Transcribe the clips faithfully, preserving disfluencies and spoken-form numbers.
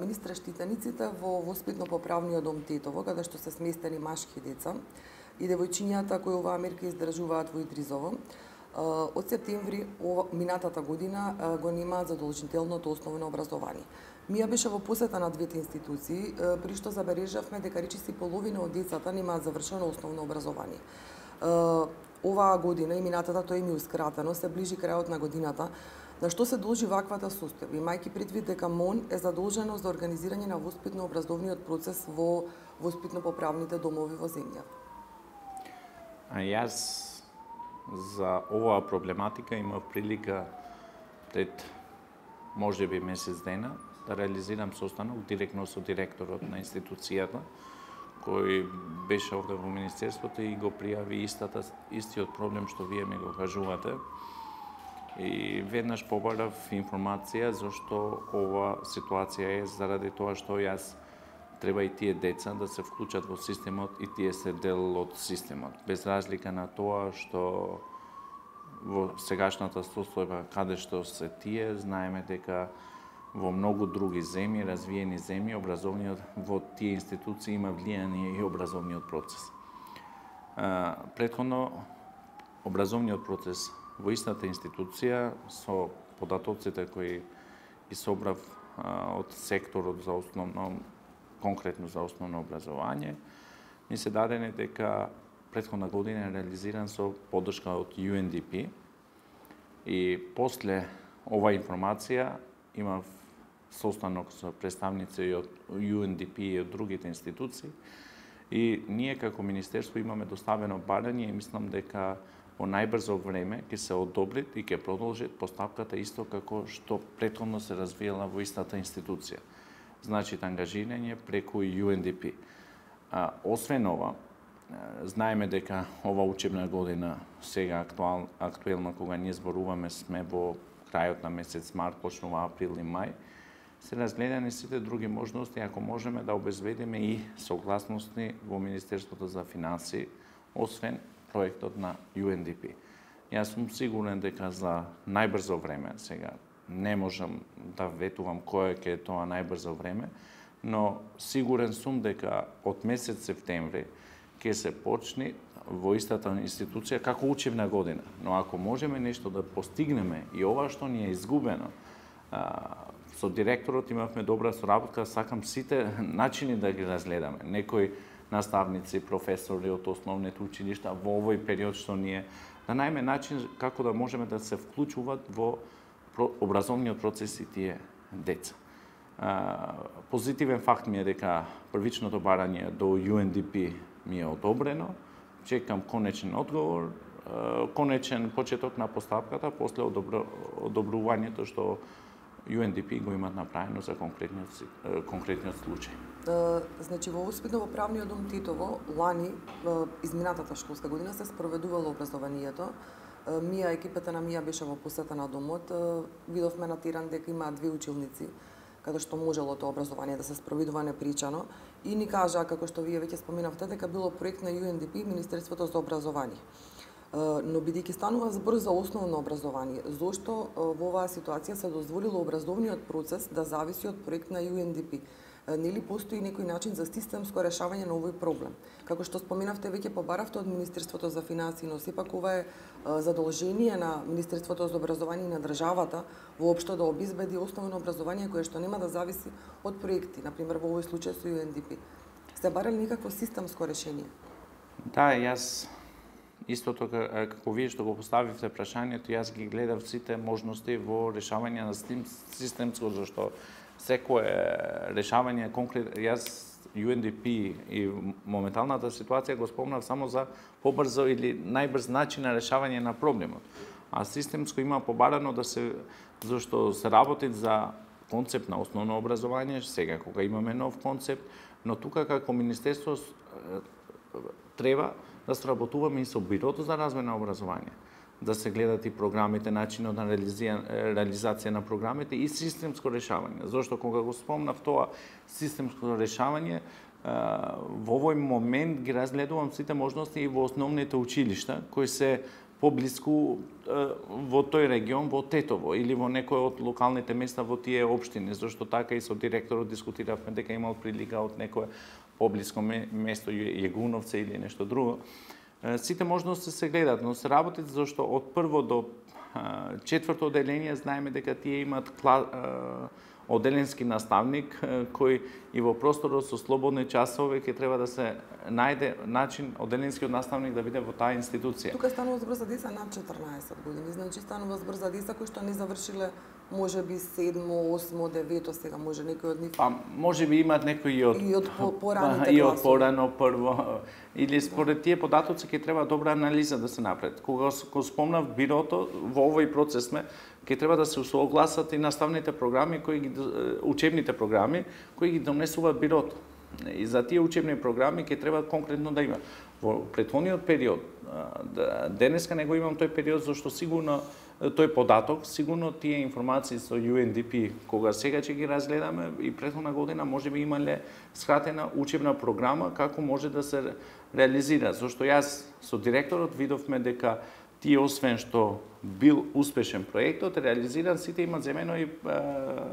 Министре, штитениците во воспитно-поправниот дом Тетово, каде што се сместени машки деца и девојчињата кои оваа мерка издржуваат во Идризово, од септември минатата година го немаат задолжителното основно образование. Мија беше во посета на двете институции, при што забележавме дека речиси половина од децата немаат завршено основно образование. Оваа година и минатата тоа им еускратено, се ближи крајот на годината. На што се должи ваквата состојба, имајќи предвид дека МОН е задолжено за организирање на воспитно-образовниот процес во воспитно-поправните домови во земјата? А јас за оваа проблематика имав прилика пред можеби месец дена да реализирам состанок директно со директорот на институцијата, кој беше овде во Министерството и го пријави истата, истиот проблем што вие ми го кажувате. И веднаш побарав информација зашто ова ситуација е заради тоа што јас треба и тие деца да се вклучат во системот и тие се дел од системот. Без разлика на тоа што во сегашната состојба каде што се тие, знаеме дека во многу други земји, развиени земји, образовниот во тие институции има влијание и образовниот процес. Претходно, образовниот процес во истата институција со податоците кои ги собрав од секторот за основно, конкретно за основно образование, ми се дадени дека претходна година е реализиран со поддршка од Ю Ен Ди Пи и после оваа информација имав состанок со представници од Ю Ен Ди Пи и од другите институции и ние како Министерство имаме доставено барање и мислам дека во најбрзо време ќе се одобри и ќе продолжи постапката исто како што претходно се развиела во истата институција. Значи, ангажирање преку Ю Ен Ди Пи. А, освен ова, знаеме дека ова учебна година сега актуал, актуелна кога ние зборуваме сме во крајот на месец март, почнува април и мај, се разгледани сите други можности ако можеме да обезбедиме и согласности во Министерството за финансии, освен проектот на Ю Ен Ди Пи. Јас сум сигурен дека за најбрзо време, сега не можам да ветувам кое ќе е тоа најбрзо време, но сигурен сум дека од месец септември ќе се почне во истата институција како учебна година. Но ако можеме нешто да постигнеме и ова што ни е изгубено, со директорот имавме добра соработка, сакам сите начини да ги разгледаме. Некои наставници, професори од основните училишта во овој период што ние да најме начин како да можеме да се вклучуваат во образовниот процес и тие деца. Позитивен факт ми е дека првичното барање до Ю Ен Ди Пи ми е одобрено. Чекам конечен одговор, конечен почеток на постапката после одобрувањето што Ю Ен Ди Пи го имат направено за конкретниот, конкретниот случај. Значи, во воспитно-поправниот дом Тетово, лани, изминатата школска година, се спроведувало образованието. Мија, екипата на Мија беше во посета на домот. Видовме на терен дека има две училници, каде што можело тоа образование да се спроведува непричано. И ни кажа, како што вие веќе споменавте, дека било проект на Ю Ен Ди Пи, Министерството за образование. Но бидејќи станува збор за основно образование, зошто во оваа ситуација се дозволило образовниот процес да зависи од проект на Ю Ен Ди Пи? Нели постои некој начин за системско решавање на овој проблем? Како што споменавте, веќе побаравте од Министерството за финансии, но сепак ова е задолжение на Министерството за образование и на државата воопшто да обезбеди основно образование кое што нема да зависи од проекти, например во овој случај со Ю Ен Ди Пи. Сте барали некакво системско решение? Да, јас истото како вие што го поставивте прашањето, јас ги гледав сите можности во решавање на системско, зашто секое решавање конкретно, јас Ю Ен Ди Пи и моменталната ситуација го спомнав само за побрзо или најбрз начин на решавање на проблемот. А системско има побарано да се, зашто се работи за концепт на основно образование, сега кога имаме нов концепт, но тука како Министерство треба да сработуваме и со Бирото за развој на образование, да се гледат и програмите, начинот на реализација на програмите и системско решавање. Зошто кога го спомнав тоа системско решавање, во овој момент ги разгледувам сите можности и во основните училишта кои се поблиску во тој регион, во Тетово или во некој од локалните места во тие општини, зашто така и со директорот дискутиравме дека имал прилика од некое поблиско место Јегуновце или нешто друго. Сите можности се гледат, но се работи зашто од прво до четврто одделение знаеме дека тие имаат одделенски наставник кој и во просторот со слободни часови ќе треба да се најде начин одделенскиот наставник да биде во таа институција. Тука станува збор за деца над четрнаесет години, значи станува збор за деца кои што не завршиле можеби седмо, осмо, девето, сега може некој од нив. Па можеби имаат некои и од и од пораните класови. И од порано прво или според тие податоци ќе треба добра анализа да се направи. Кога го спомнав бирото, во овој процес сме ќе треба да се усогласат и наставните програми кои ги учебните програми кои ги донесуваат бирото. И за тие учебни програми ќе треба конкретно да има. Во претходниот период, денеска не го имам тој период зашто сигурно тој податок, сигурно тие информации со Ю Ен Ди Пи, кога сега ќе ги разгледаме и претходна година можеби имале скратена учебна програма како може да се реализира. Зашто јас со директорот видовме дека тие освен што бил успешен проектот, реализиран, сите имаат земено и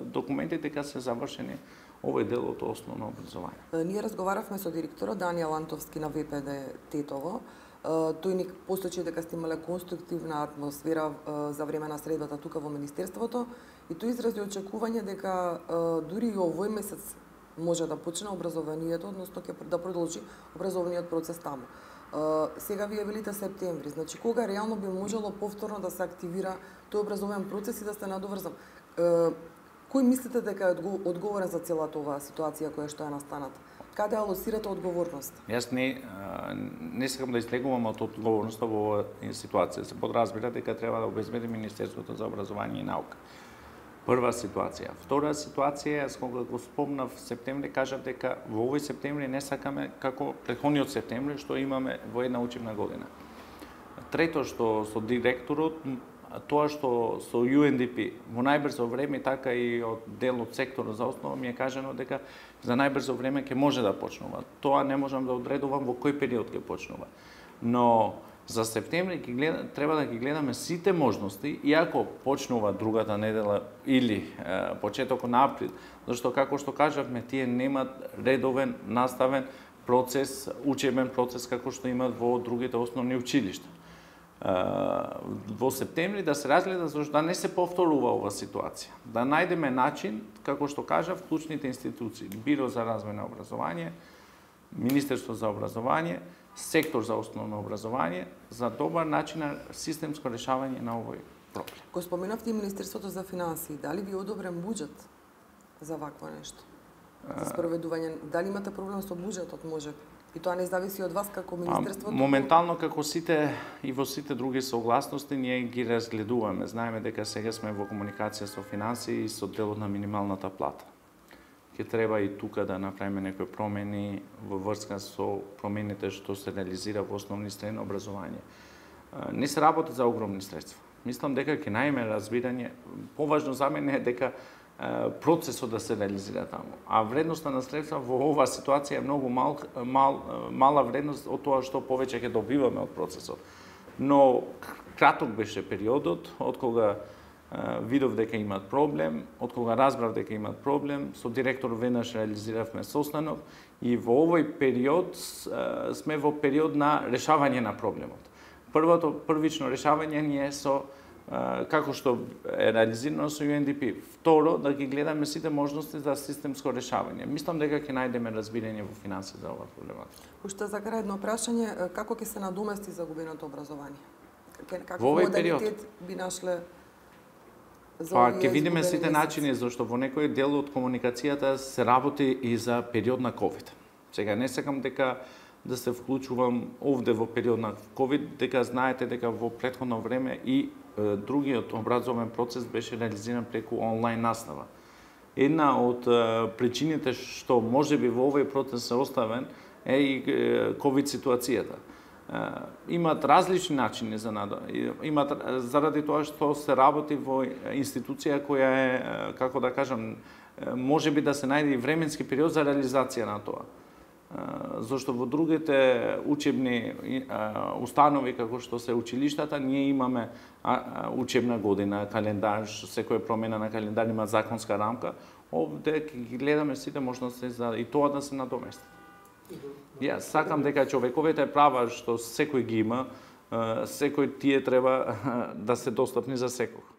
документите дека се завршени овој дел од основно образование. Ние разговаравме со директорот Данијел Антовски на В П Д Тетово. Тој ни посочи дека сте имале конструктивна атмосфера за време на средбата тука во Министерството и тој изрази очекување дека дури и овој месец може да почне образованието, односно ќе да продолжи образовниот процес таму. Сега вие велите септември, значи кога реално би можело повторно да се активира тој образовен процес и да се надоврзам? Кој мислите дека е одговорен за целата оваа ситуација која што е настаната? Каде алосирате одговорност? Јас не не сакам да излегувам од одговорноста во оваа ситуација. Се подразбира дека треба да обезбеди Министерството за образование и наука. Прва ситуација. Втора ситуација, јас кога го спомнав септември, кажав дека во овој септември не сакаме како претходниот септември што имаме во една учебна година. Трето што со директорот, тоа што со Ю Ен Ди Пи во најбрзо време, така и од дел од секторот за основа ми е кажано дека за најбрзо време ќе може да почнува. Тоа не можам да одредувам во кој период ќе почнува. Но за септември ќе гледа, треба да ги гледаме сите можности, иако почнува другата недела или е, почетокот на април, зашто како што кажавме, тие немаат редовен наставен процес, учебен процес како што имаат во другите основни училишта. Во септември да се разгледа зашто да не се повторува ова ситуација. Да најдеме начин, како што кажав, клучните институции, Биро за развој на образование, Министерство за образование, сектор за основно образование, за добар начин на системско решавање на овој проблем. Го споменавте и Министерството за финансии, дали ви е одобрен буџет за вакво нешто? За спроведување, дали имате проблем со буџетот, може? И тоа не зависи од вас како Министерството? Моментално, како сите и во сите други согласности, ние ги разгледуваме. Знаеме дека сега сме во комуникација со финансии и со делот на минималната плата. Ќе треба и тука да направиме некои промени во врска со промените што се реализира во основни средно образование. Не се работи за огромни средства. Мислам дека ќе најме разбирање. Поважно за мене е дека процесот да се реализира таму. А вредноста на средства во оваа ситуација е многу мал, мал, мала вредност од тоа што повеќе ќе добиваме од процесот. Но краток беше периодот од кога видов дека имаат проблем, од кога разбрав дека имаат проблем, со директор веднаш реализиравме состанок и во овој период сме во период на решавање на проблемот. Првото првично решавање ни е со како што е реализирано со Ю Ен Ди Пи. Второ, да ги гледаме сите можности за системско решавање. Мислам дека ќе најдеме разбирање во финансии за оваа проблематика. Уште за крај едно прашање, како ќе се надомести загубеното образование? Како во овој период би нашле за Па ќе видиме сите начини, зашто во некој дел од комуникацијата се работи и за период на ковид. Сега не сакам дека да се вклучувам овде во период на ковид, дека знаете дека во претходно време и е, другиот образовен процес беше реализиран преку онлайн настава. Една од е, причините што можеби во овој процес се оставен е и е, ковид ситуацијата. Имаат различни начини за надо. Имаат заради тоа што се работи во институција која е, како да кажам, можеби да се најде и временски период за реализација на тоа. зашто во другите учебни установи како што се училиштата ние имаме учебна година, календар, секоја промена на календар има законска рамка. Овде ќе гледаме сите можности за и тоа да се надомести. Јас сакам дека човековите права што секој ги има, секој тие треба да се достапни за секој.